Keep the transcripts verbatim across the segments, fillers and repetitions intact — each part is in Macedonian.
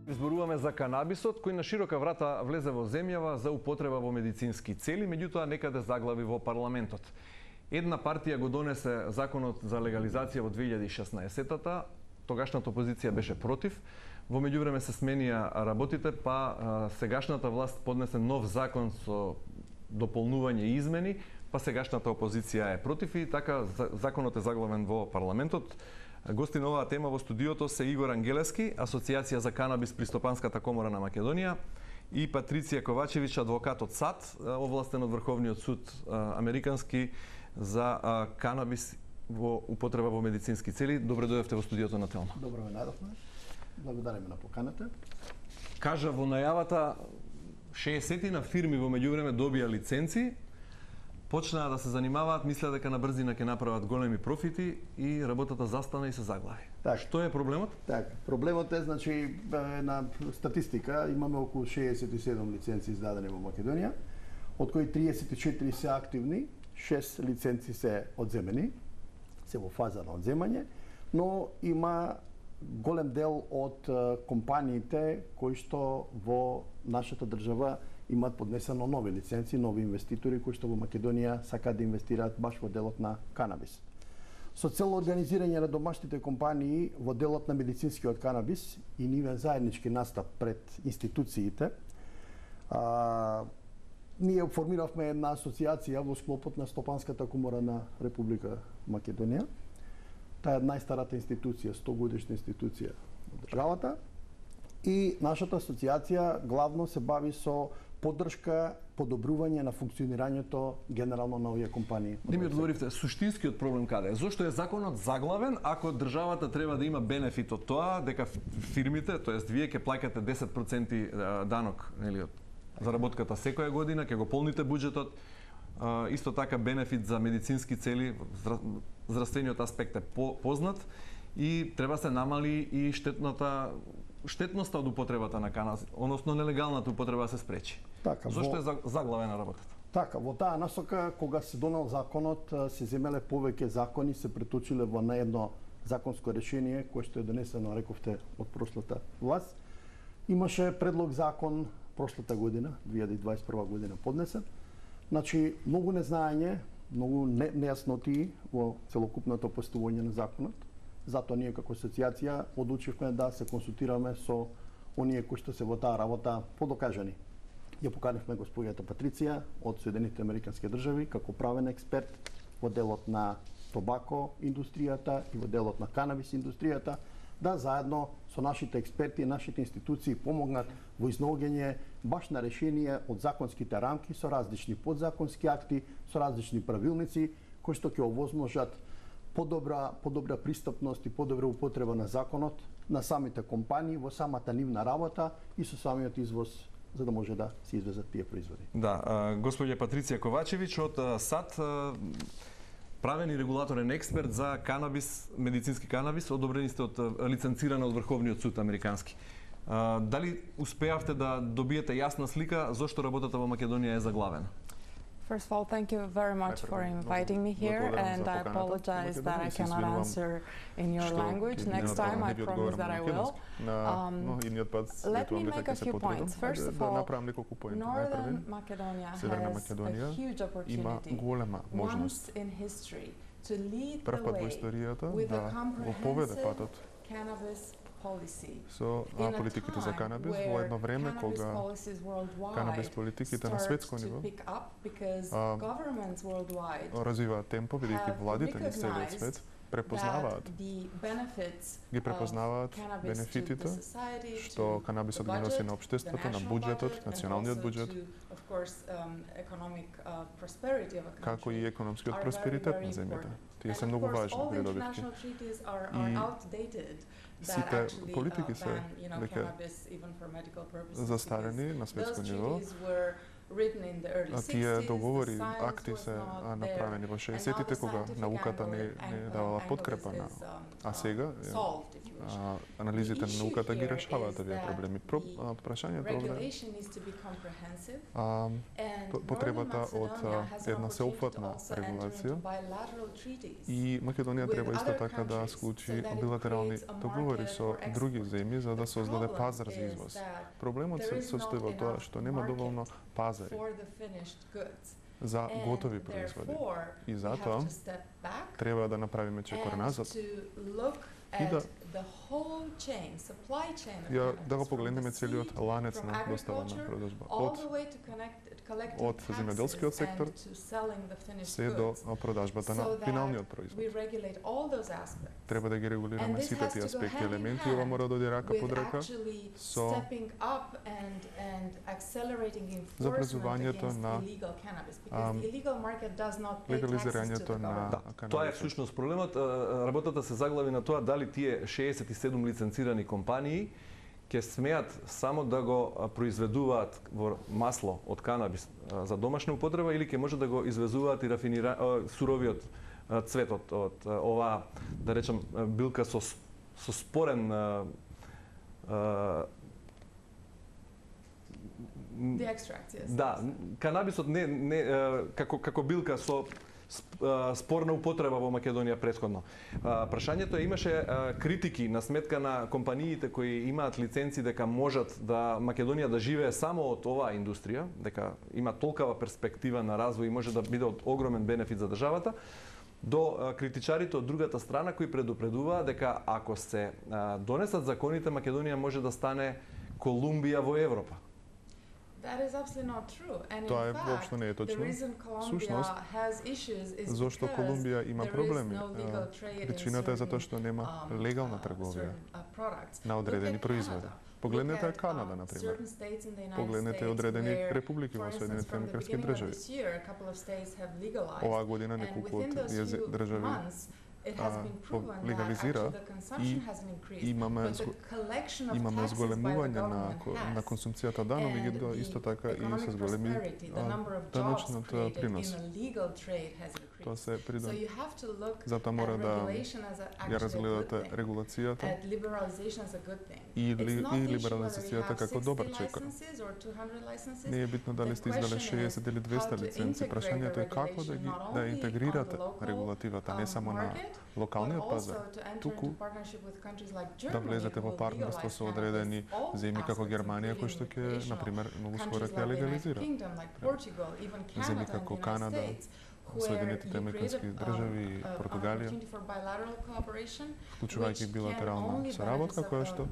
Зборуваме за канабисот, кој на широка врата влезе во земјава за употреба во медицински цели, меѓутоа некаде заглави во парламентот. Една партија го донесе законот за легализација во две илјади и шеснаесетта, тогашната опозиција беше против. Во меѓувреме се сменија работите, па сегашната власт поднесе нов закон со дополнување и измени, па сегашната опозиција е против и така законот е заглавен во парламентот. Гости на оваа тема во студиото се Игор Ангелески, Асоциација за канабис при Стопанската комора на Македонија, и Патриција Ковачевич, адвокат од САД, овластен од Врховниот суд американски за канабис во употреба во медицински цели. Добре дојдовте во студиото на Телма. Добро ме најдовме. Благодариме на поканата. Кажа во најавата шеесет фирми во меѓувреме добија лиценци, почнаа да се занимаваат, мислеа дека на брзина ќе направат големи профити и работата застана и се заглави. Так. Што е проблемот? Так, проблемот е, значи, на статистика имаме околу шеесет и седум лиценци издадени во Македонија, од кои триесет и четири се активни, шест лиценци се одземени, се во фаза на одземање, но има голем дел од компаниите кои што во нашата држава имаат поднесено нови лиценци, нови инвеститори кои што во Македонија сакаат да инвестираат баш во делот на канабис. Со цел организирање на домашните компании во делот на медицинскиот канабис и нивен заеднички настап пред институциите, а, ние формиравме една асоциација во склопот на Стопанската комора на Република Македонија. Таа е најстарата институција, сто годишна институција во државата. И нашата асоциација главно се бави со поддршка, подобрување на функционирањето генерално на овие компании. Не ми одговоривте, суштинскиот проблем каде е? Зошто е законот заглавен ако државата треба да има бенефит од тоа дека фирмите, тоест вие ќе плаќате десет проценти данок, нели, од заработката секоја година, ќе го полните буџетот, исто така бенефит за медицински цели, здравствениот аспект е познат и треба се намали и штетната штетноста од употребата на канабис, односно нелегалната употреба се спречи. Така, Зошто во... е заглавена работата? Така, во таа насока, кога се донел законот, се земеле повеќе закони, се преточиле во на едно законско решение, кое што е донесено, рековте, од прошлата власт. Имаше предлог закон прошлата година, две илјади и дваесет и прва година поднесен. Значи, многу незнаење, многу не, нејасноти во целокупното постување на законот. Затоа ние како асоциација одлучивме да се консултираме со оние кои што се во таа работа подокажани. Ја поканивме господјата Патриција од Соединетите Американски држави како правен експерт во делот на тобако индустријата и во делот на канабис индустријата, да заедно со нашите експерти и нашите институции помогнат во изнаоѓање баш на решение од законските рамки со различни подзаконски акти, со различни правилници кои што ќе овозможат подобра подобра пристапност и подобра употреба на законот на самите компании во самата нивна работа и со самиот извоз, за да може да се извезат тие производи. Да, господја Патриција Ковачевич од САД, правен и регулаторен експерт за канабис, медицински канабис, одобрени сте од лиценцирана од Врховниот суд американски. Дали успеавте да добиете јасна слика зошто работата во Македонија е заглавена? First of all, thank you very much for inviting me here, and I apologize that I cannot answer in your language. Next time, I promise that I will. Um, let me make a few points. First of all, Northern Macedonia has a huge opportunity once in history to lead the way with a comprehensive cannabis со политиките за канабис во едно време кога канабис политиките на светско ниво развиваат темпо, бидејќи владите на целиот свет препознаваат ги препознаваат бенефитите што канабисот ги носи на општеството, на буџетот, националниот буџет, како и економскиот просперитет на земјата. Тие се многу важни придобивки. И сите политики се веќе застарени на светско ниво. А тие договори, акти се направени во шеесеттите кога науката не, не давала подкрепа на, а сега а, анализите на науката ги решаваат овие проблеми. Про, а, прашањето овде а, потребата од една сеопфатна регулација и Македонија треба исто така да склучи билатерални договори со други земји за да создаде пазар за извоз. Проблемот се состои во тоа што нема доволно пазари за готови производи. И затоа треба да направиме чекор назад и да ја, да го погледнеме целиот ланец на достава на продажба. Од, од земјоделскиот сектор се до продажбата на финалниот производ. Треба да ги регулираме сите тие аспекти, елементи, ова мора да оди рака под рака со забрзувањето на легализирањето на канабис. Тоа е всушност проблемот. Работата се заглави на тоа дали тие шеесет и седум лиценцирани компании ќе смеат само да го произведуваат во масло од канабис за домашна употреба или ќе може да го извезуваат и рафинира суровиот цветот од оваа, да речем, билка со со спорен The extract, yes. Да, канабисот не не како како билка со спорна употреба во Македонија претходно. Прашањето е, имаше критики на сметка на компаниите кои имаат лиценци дека можат да Македонија да живее само од оваа индустрија, дека има толкава перспектива на развој и може да биде од огромен бенефит за државата, до критичарите од другата страна кои предупредуваат дека ако се донесат законите, Македонија може да стане Колумбија во Европа. Тоа е воопшто не е точно. Сушност, зошто Колумбија има проблеми? Причината е затоа што нема легална трговија на одредени производи. Погледнете Канада, например. Погледнете одредени републики во Соединетите американски држави. Оваа година неколку од држави легализира и имаме имаме зголемување на на консумцијата да, но меѓутоа исто така и се зголеми даночниот принос. Тоа се придон. Затоа мора да ја разгледате регулацијата и, ли, и либерализацијата како добар чекор. Не е битно дали сте издале шеесет или двесте лиценци, прашањето е како да ги да интегрирате регулативата не само на локалниот пазар, туку да влезете во партнерство со одредени земји како Германија, кои што ќе, например, многу скоро ќе легализира. Земји како Канада, Соединетите американски држави, Португалија, вклучувајќи билатерална соработка која што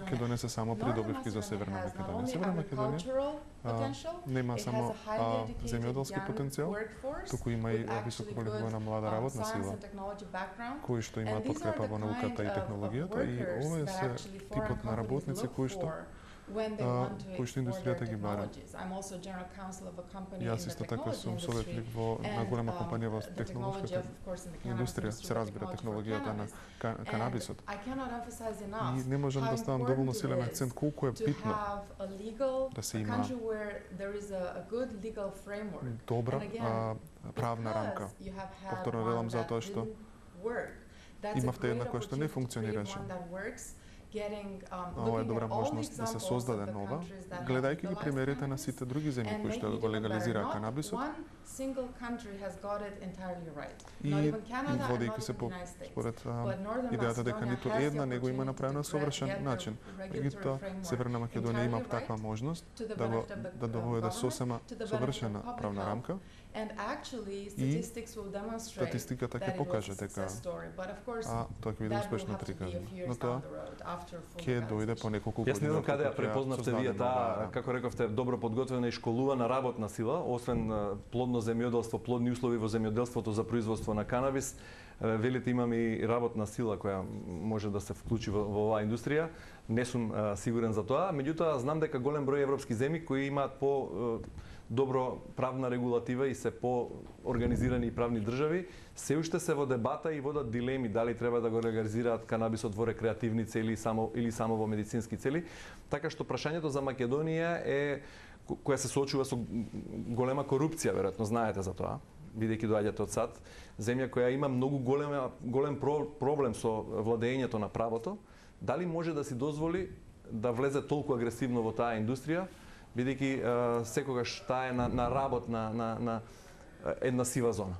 ќе донесе само придобивки за Северна Македонија. Северна Македонија а, нема само а, земјоделски потенцијал, туку има и високо квалифицирана млада работна сила, кои што имаат подкрепа во науката и технологијата, и овие се типот на работници кои што кои што индустријата ги бара. Јас исто така сум советник во на голема компанија во технолошката индустрија, се разбира технологијата на канабисот. И не можам да ставам доволно силен акцент колку е битно да се има добра а, правна рамка. Повторно велам затоа што имавте една која што не функционираше. Ова е добра можност да се создаде нова, гледајќи ги примерите на сите други земји кои што го легализираа канабисот. И водејќи се по според идејата дека ниту една не го има направено совршен начин. Меѓутоа, Северна Македонија има таква можност да го да доведе сосема совршена правна рамка. И статистиката ќе покаже дека а тоа ќе биде успешно прикажано. Но тоа ќе дојде по неколку години. Јас не знам каде ја препознавте вие таа, како рековте, добро подготвена и школувана работна сила, освен плодно земјоделство, плодни услови во земјоделството за производство на канабис. Велите имаме и работна сила која може да се вклучи во, во оваа индустрија. Не сум а, сигурен за тоа, меѓутоа знам дека голем број европски земји кои имаат по добро правна регулатива и се по-организирани правни држави, се уште се во дебата и водат дилеми дали треба да го легализираат канабисот во рекреативни цели само или само во медицински цели. Така што прашањето за Македонија е која се соочува со голема корупција, веројатно знаете за тоа, бидејќи доаѓате од САД, земја која има многу голема, голем проблем со владењето на правото, дали може да си дозволи да влезе толку агресивно во таа индустрија, бидејќи секогаш таа е на, на работ на, на, на една сива зона?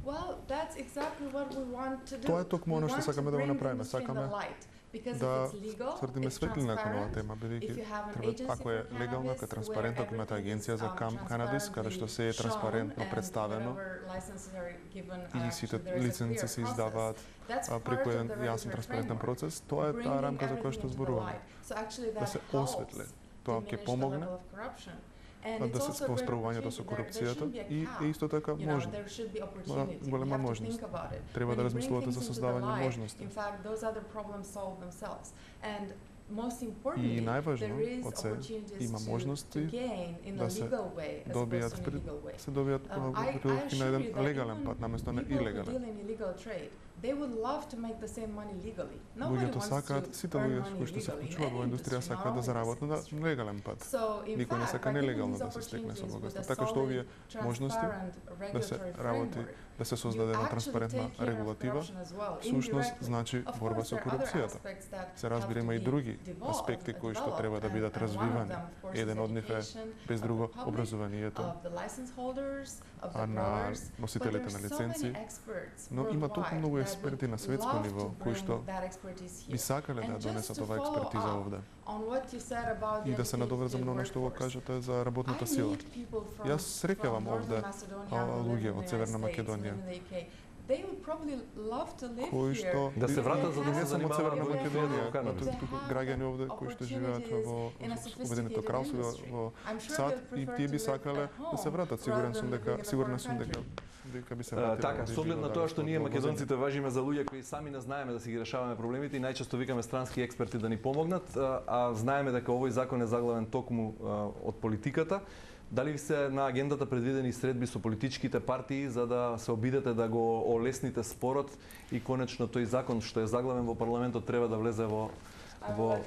Well, that's exactly what we want to do. Тоа е токму оно што сакаме да го направиме. Сакаме да свртиме светлина кон оваа тема, бидејќи ако е легално, ако е транспарентно, ако имате агенција за канабис, каде што се е транспарентно представено и сите лиценци се издаваат преку еден јасен транспарентен процес, тоа е таа рамка за која што зборуваме. Да се осветли. Тоа ќе помогне да се во справувањето со корупцијата и е исто така можно. Голема можност. Треба да размислувате за создавање можности. И најважно од се има можности да се добијат се добијат придобивки на еден легален пат наместо на илегален. Луѓето сакаат, сите луѓе кои што се вклучуваат во индустрија сакаат да заработат на легален пат. Никој не сака нелегално да се стекне со богатство. Така што овие можности да се работи, да се создаде една транспарентна регулатива, всушност значи борба со корупцијата. Се разбира има и други аспекти кои што треба да бидат развивани. Еден од нив е без друго образованието, а на носителите на лиценци, но има толку многу експерти на светско ниво кои што би сакале да донесат оваа експертиза овде. И да се надоврзам на оно што го кажете за работната сила. Јас среќавам овде луѓе од Северна Македонија кои што да се вратат за да се занимаваат од Северна Македонија, граѓани овде кои што живеат во Обединето кралство, во САД, и тие би сакале да се вратат. Сигурен сум дека сигурна сум дека дека би се вратиле. Така, со оглед на тоа што ние македонците важиме за луѓе кои сами не знаеме да си ги решаваме проблемите и најчесто викаме странски експерти да ни помогнат, а знаеме дека овој закон е заглавен токму од политиката. Дали се на агендата предвидени средби со политичките партии за да се обидете да го олесните спорот и конечно тој закон што е заглавен во парламентот треба да влезе во во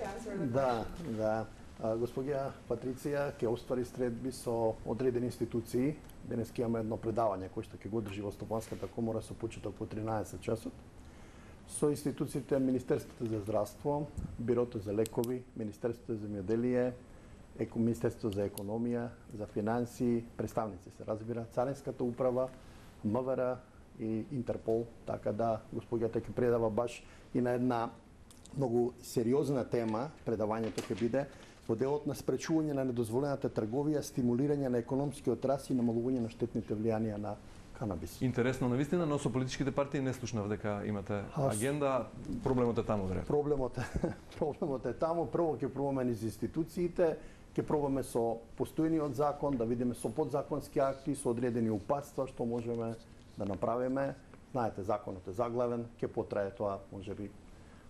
Да, да. Господја Патриција ќе оствари средби со одредени институции. Денес ќе имаме едно предавање кој што ќе го одржи во Стопанската комора со почеток во тринаесет часот. Со институциите Министерството за здравство, Бирото за лекови, Министерството за земјоделие, Министерството за економија, за финансии, представници се разбира, Царинската управа, МВР и Интерпол, така да господјата ќе предава баш и на една многу сериозна тема, предавањето ќе биде во делот на спречување на недозволената трговија, стимулирање на економскиот раст и намалување на штетните влијанија на канабис. Интересно навистина, но со политичките партии не слушнав дека имате агенда, проблемот е таму веројатно. Проблемот е проблемот е таму, прво ќе пробаме низ институциите, ќе пробаме со постојниот закон, да видиме со подзаконски акти, со одредени упатства што можеме да направиме. Знаете, законот е заглавен, ќе потрае тоа можеби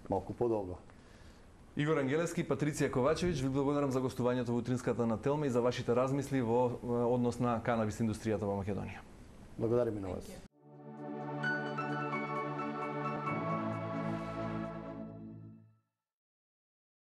малку подолго. Игор Ангелевски, Патриција Ковачевиќ, ви благодарам за гостувањето во утринската на Телма и за вашите размисли во однос на канабис индустријата во Македонија. Благодарам и на вас.